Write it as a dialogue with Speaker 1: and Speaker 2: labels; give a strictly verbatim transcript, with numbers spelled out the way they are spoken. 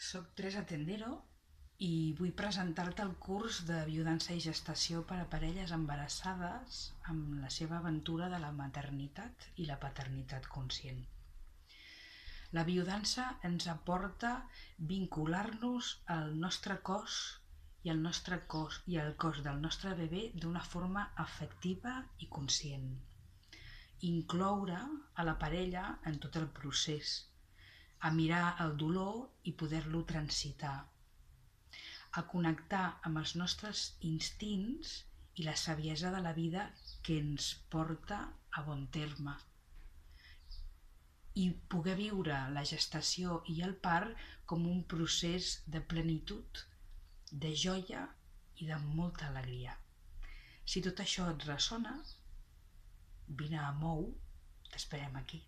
Speaker 1: Soc Teresa Tendero i vull presentar-te el curs de biodança i gestació per a parelles embarassades amb la seva aventura de la maternitat i la paternitat conscient. La biodança ens aporta vincular-nos al nostre cos i al nostre cos i al cos del nostre bebè d'una forma afectiva i conscient. Incloure a la parella en tot el procés, a mirar el dolor i poder-lo transitar, a connectar amb els nostres instints i la saviesa de la vida que ens porta a bon terme, i poder viure la gestació i el part com un procés de plenitud, de joia i de molta alegria. Si tot això et ressona, vine a Mou, t'esperem aquí.